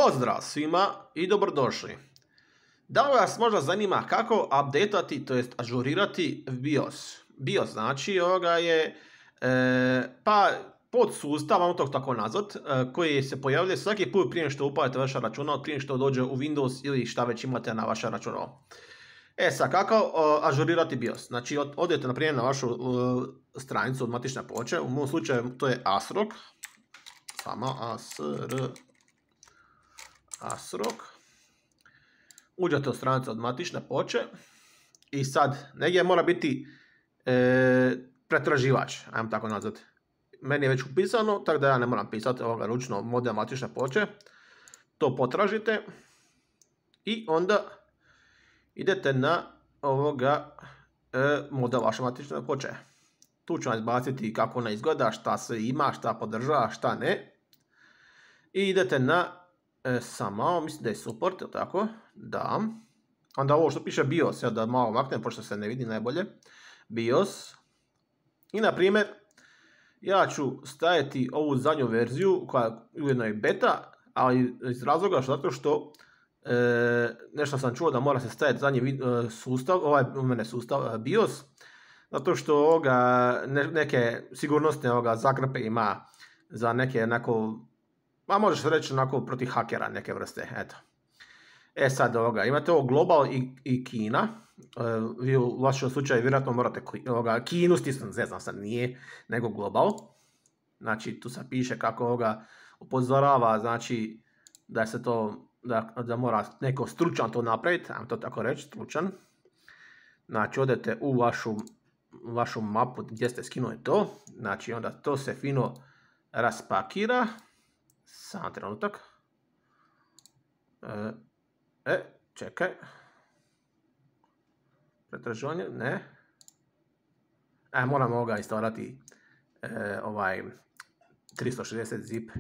Pozdrav svima i dobrodošli. Da li vas možda zanima kako updateati, to jest ažurirati BIOS? BIOS znači ovoga je podsustav, vam to tako nazvat, koji se pojavljuje svaki put prije što upalite vaše računalo, prije što dođe u Windows ili šta već imate na vaše računalo. Sad, kako ažurirati BIOS? Znači, odete na primjer na vašu stranicu od matične ploče, u mom slučaju to je ASRock, samo ASRock. Uđete u stranicu od matične ploče i sad negdje mora biti pretraživač, ajmo tako nazvati. Meni je već upisano, tako da ja ne moram pisati ovoga ručno model matične ploče. To potražite i onda idete na ovoga model vaše matične ploče. Tu ću vam izbaciti kako ona izgleda, šta se ima, šta podržava, šta ne. I idete na samo, mislim da je support, ili tako? Da. Onda ovo što piše BIOS, ja da malo maknem, pošto se ne vidi najbolje. BIOS. I na primjer, ja ću staviti ovu zadnju verziju, koja ujedno je beta, ali iz razloga zato što nešto sam čuo da mora se staviti zadnji sustav, sustav BIOS, zato što neke sigurnosne zakrpe ima za neke možeš reći protiv hakera neke vrste, eto. Sad imate ovo Global i Kina, vi u vašem slučaju vjerojatno morate Kinu stisnuti, ne znam sad nije, nego Global. Znači tu se piše kako upozorava, znači da se to, da mora neko stručan to napraviti, ajmo to tako reći, stručan. Znači odete u vašu mapu gdje ste skinuli to, znači onda to se fino raspakira. Samo trenutak. Čekaj. Pretraživanje, ne. Moram instalirati 360 zip.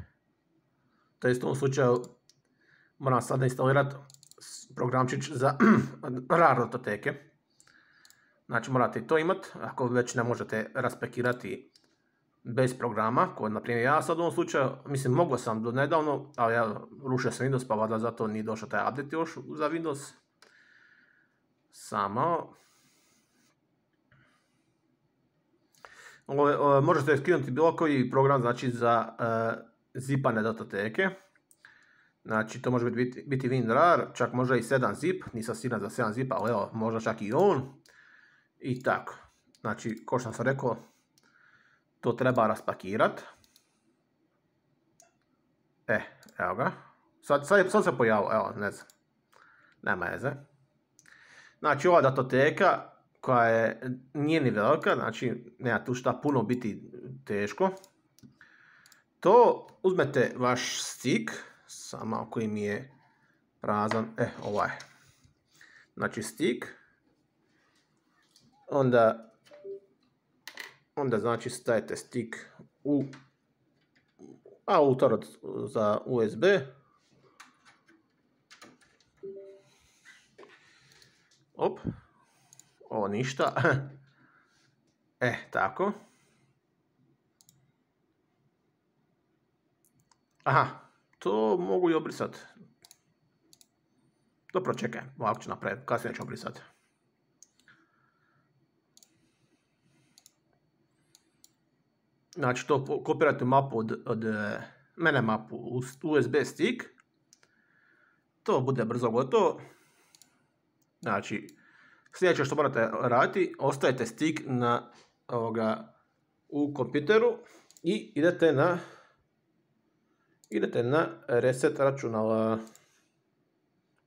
To je u tom slučaju moram sada instalirati programčić za RAR datoteke. Znači morate to imati, ako već ne možete raspekirati bez programa, koji na primjer ja sad u ovom slučaju, mislim mogao sam do nedavno, ali ja rušio sam Windows, pa valjda zato nije došao taj update još za Windows. Samo. Možete skinuti bilo koji program, znači za zipane datoteke. Znači to može biti WinRAR, čak možda i 7 zip, nisam siguran za 7 zip, ali evo, možda čak i on. I tako. Znači, kao što sam rekao, to treba raspakirati. Evo ga. Sad se pojavio, evo, ne znam. Nema veze. Znači, ova datoteka koja nije ni velika, znači nema tu šta puno biti teško. To uzmete vaš stick, samo koji mi je prazan, ovaj. Znači stick. Onda znači stavite stick u autor za USB. Ovo ništa. Tako. Aha, to mogu i obrisati. Dobro, čekaj, ovako ću napraviti, kasnije ću obrisati. Znači to kopirate mapu od mene mapu u USB stick. To bude brzo gotovo. Znači sljedeće što morate raditi, ostavite stick u kompjuteru i idete na reset računala.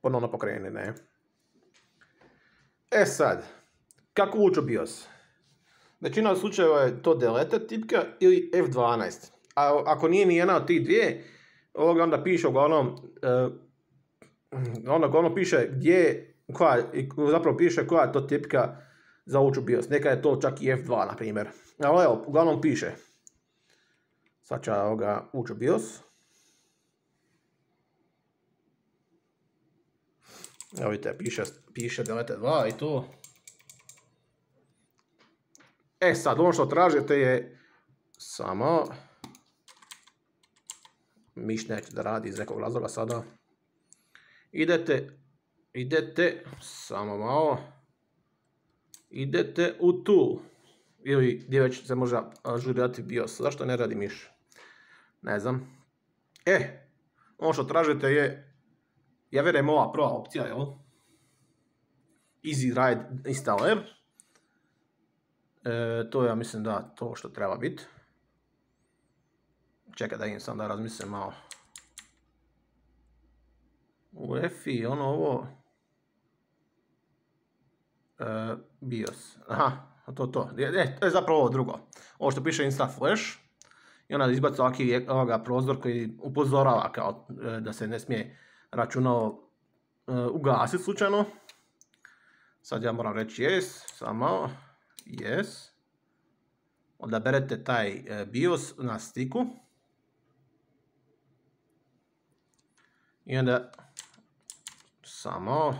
Ponovno pokreni, ne. Sad, kako ući u BIOS? Većina slučajeva je to delete tipka ili F12. A ako nije ni jedna od tih dvije, onda piše uglavnom piše zapravo piše koja je to tipka za ući u BIOS. Neka je to čak i F2 na primjer. Ali evo, uglavnom piše. Sad ću ući u BIOS. Evo vidite, piše delete 2 i to. Sad, ono što tražite je samo miš neće da radi iz nekog razloga sada. Idete, samo malo, idete u Tool, ili gdje već se može ažurirati BIOS, zašto ne radi miš? Ne znam. Ono što tražite je, ja vjerujem ova prva opcija, jel? Easy Ride Installer. To ja mislim da to što treba biti. Čekaj da im sam da razmislim malo. UEFI, ovo. BIOS. Aha, to. To je zapravo ovo drugo. Ovo što piše Insta Flash. I onda izbaci ovoga prozor koji upozorava kao da se ne smije računalo ugasiti slučajno. Sad ja moram reći yes, samo yes. Odaberete taj BIOS na stiku. I onda samo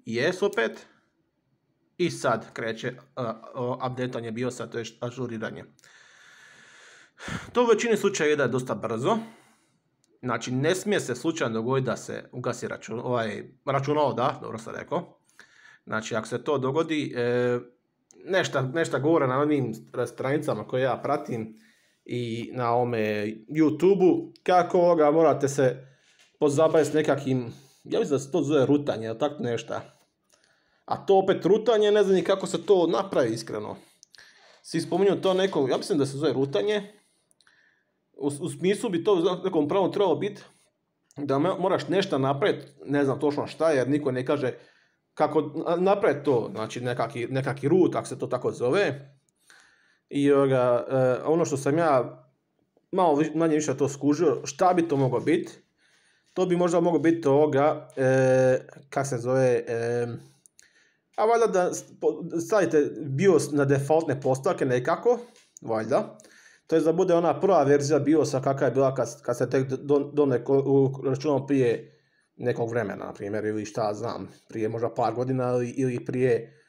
yes opet. I sad kreće updateanje BIOS-a, to je ažuriranje. To u većini slučajeva je dosta brzo. Znači, ne smije se slučajno dogoditi da se ugasi računalo, da, dobro sam rekao. Znači, ako se to dogodi, nešto govore na onim stranicama koje ja pratim i na ovome YouTube-u, kako morate se pozabaviti s nekakvim, ja mislim da se to zove rutanje, ili tako nešto. A to opet rutanje, ne znam ni kako se to napravi iskreno. Svi spominju to neko, ja mislim da se zove rutanje. U smislu bi to u nekom pravom trebalo biti da moraš nešto napraviti, ne znam točno šta, jer niko ne kaže kako napraviti to, znači nekaki root, ako se to tako zove. I ono što sam ja malo manje više to skužio, šta bi to moglo biti? To bi možda moglo biti kak se zove, a valjda da stavite BIOS na defaultne postavke nekako, valjda. To je da bude ona prva verzija BIOS-a kakva je bila kad se tek računalo prije nekog vremena, na primjer, ili šta znam, prije možda par godina ili prije,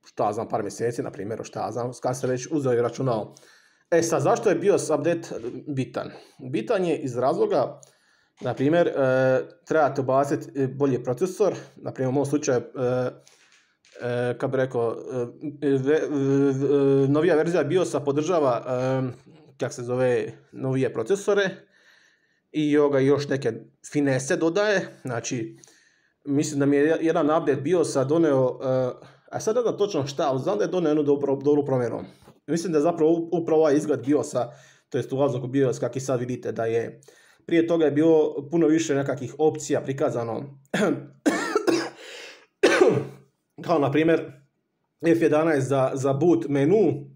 šta znam, par mjeseci, na primjer, šta znam, kad se već uzeo i računalo. Sad, zašto je BIOS update bitan? Bitan je iz razloga, na primjer, trebate ubaciti bolji procesor, na primjer u mom slučaju, kako bi rekao, novija verzija BIOS-a podržava, kako se zove, novije procesore i još neke finese dodaje. Znači, mislim da mi je jedan update BIOS-a doneo, a sad ne znam točno šta, ali znam da je doneo jednu dobru promjenu. Mislim da je zapravo upravo ovaj izgled BIOS-a, to jest ulazak u BIOS, kako i sad vidite da je. Prije toga je bilo puno više nekakvih opcija prikazano. Kao na primjer F11 za boot menu,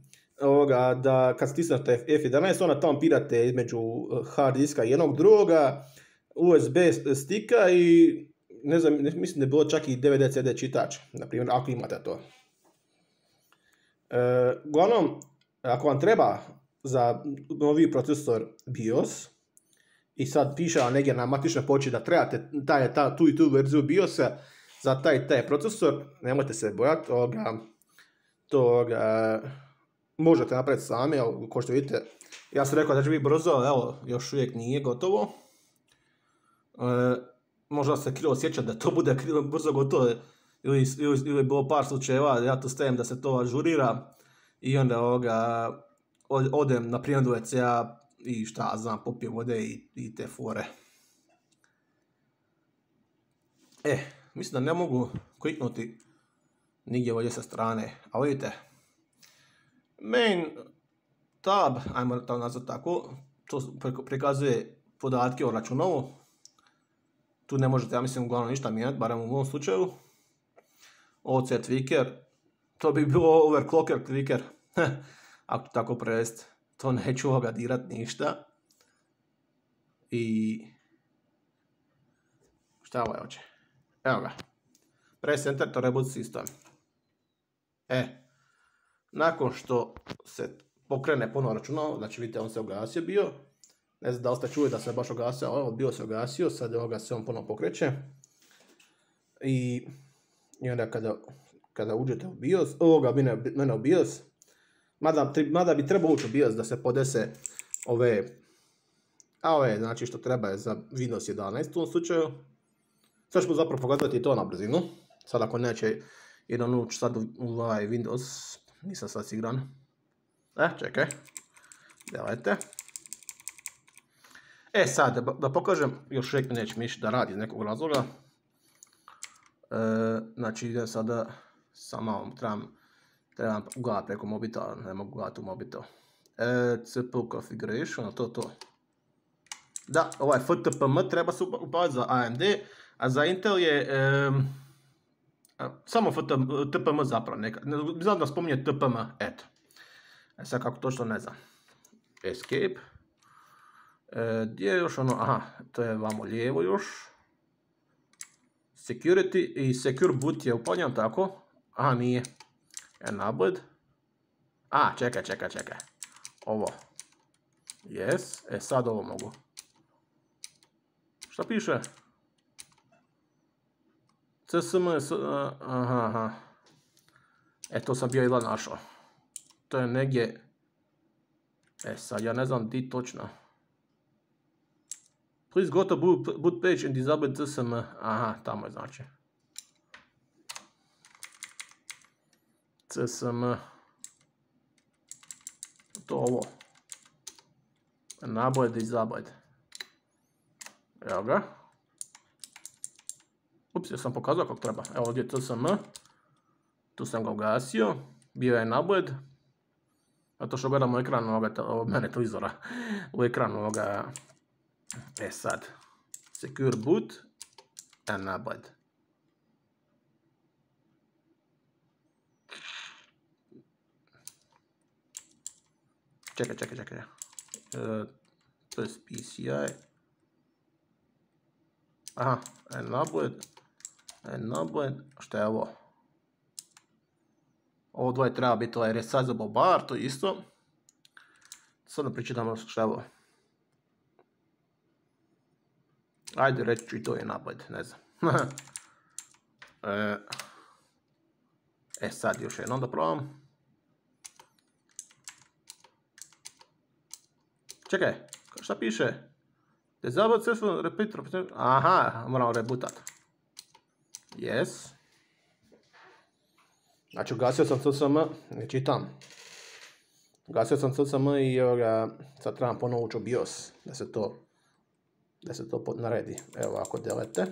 da kad stisnete F11 onda tamo pirate između hard diska jednog drugoga, USB stika i ne znam, mislim da je bilo čak i DVD CD čitač, na primjer, ako imate to. Uglavnom, ako vam treba za novi procesor BIOS i sad piše negdje na matičnoj ploči da trebate tu i tu verziju BIOS-a za taj procesor, nemojte se bojati, možete napraviti sami, kao što vidite, ja sam rekao da će biti brzo, evo, još uvijek nije gotovo. Možda se krivo sjećam da to bude brzo gotovo, ili je bilo par slučajeva, ja to stavim da se to ažurira i onda odem na primjer do WC-a i šta znam, popijem vode i te fore. Mislim da ne mogu kliknuti nigdje ovdje sa strane, a vidite, main tab, ajmo to nazvati tako, to prikazuje podatke o računalu. Tu ne možete, ja mislim, uglavnom ništa mijenjati, barem u ovom slučaju. OC tweaker, to bi bilo overclocker tweaker, ako tako prevesti, to neću dirati ništa. I šta ovaj hoće? Evo ga, press enter to reboot system. Nakon što se pokrene ponovno računalo, znači vidite on se ugasio bio, ne znam da li ste čuli da se baš ugasio, bio se ugasio, sad se on ponovno pokreće. I onda kada uđete u BIOS, mene u BIOS, Mada bi trebao ući u BIOS da se podese ove, znači što treba je za Windows 11 u ovom slučaju. Sad ćemo zapravo pokazati to na brzinu. Sad ako neće jedan ući sad u ovaj Windows, nisam sad siguran. Čekaj. Gledajte. Sad, da pokažem, još uvijek neće mi da radi iz nekog razloga. Znači idem sada, samo trebam gledati preko mobitela, ne mogu gledati u mobitel. CPU configuration, to. Da, ovaj FTPM treba se upavati za AMD, a za Intel je samo FTPM zapravo, znam da spominje TPM, eto. Sad kako točno ne znam. Escape. Gdje je još ono, aha, to je vamo lijevo još. Security i Secure Boot je upaljen, tako? Aha, nije. Enabled. Čekaj. Ovo. Yes, sad ovo mogu. Šta piše? CSM, aha. To sam bio jedva našao. To je negdje. Sad ja ne znam di točno. Please go to boot page and disable CSM. Aha, tamo je znači. CSM. To ovo. Enable, disable. Evo ga. Ups, ja sam pokazao kako treba. Evo ovdje je CSM. Tu sam ga ugasio. Bio je enabled. Zato što gledam u ekranu mene televizora. U ekranu ovoga. Sad. Secure boot. Enabled. Čekaj. To je PCI. Aha, enabled. Šta je ovo? Ovo dvoje treba biti ovaj resizable bar, to je isto. Sad da pričitamo šta je ovo. Ajde, reći ću i to je enabled, ne znam. Sad još jednom da probam. Čekaj, šta piše? Disable successful repeat. Aha, moramo rebootat. Yes. Znači, ugasio sam CSM, ne čitam. Ugasio sam CSM i sad trebam ponovo ući u BIOS, da se to naredi. Evo ovako, delete.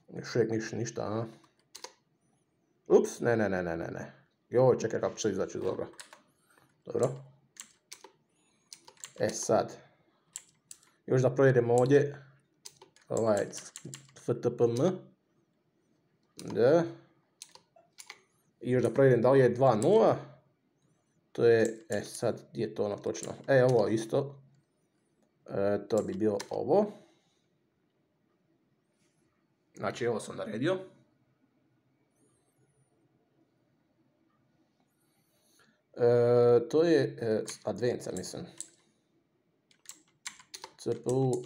Još uvijek ništa, a? Ups, ne. Joj, čekaj kako će izaći iz ovoga. Dobro. Sad. Još da provjerimo ovdje. Ovaj FTPM. Da. I još da provjerim da li je 2.0. To je, sad, gdje je to ono točno? Ovo isto. To bi bilo ovo. Znači, ovo sam naredio. To je Advanced, mislim. CPU,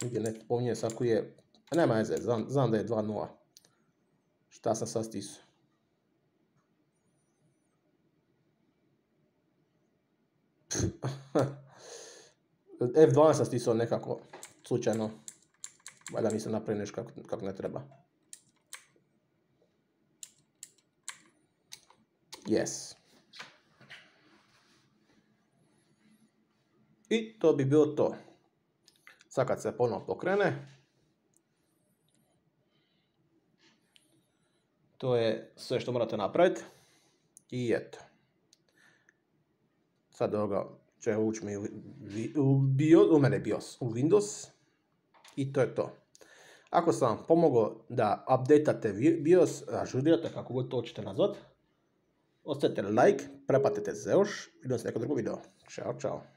nigdje ne spominje sad koji je, nema veze, znam da je 2.0. Šta sam sad stisao? F12 sam stisao nekako, slučajno. Valjda nisam napravio nešto kako ne treba. Yes. I to bi bilo to. Sad kad se ponovno pokrene, to je sve što morate napraviti. I eto. Sad ovoga će ući mi u mene BIOS, u Windows. I to je to. Ako sam vam pomogao da updateate BIOS, ažurirate kako god to hoćete nazvat, ostavite like, preplatite se još, vidimo se neko drugo video. Ćao.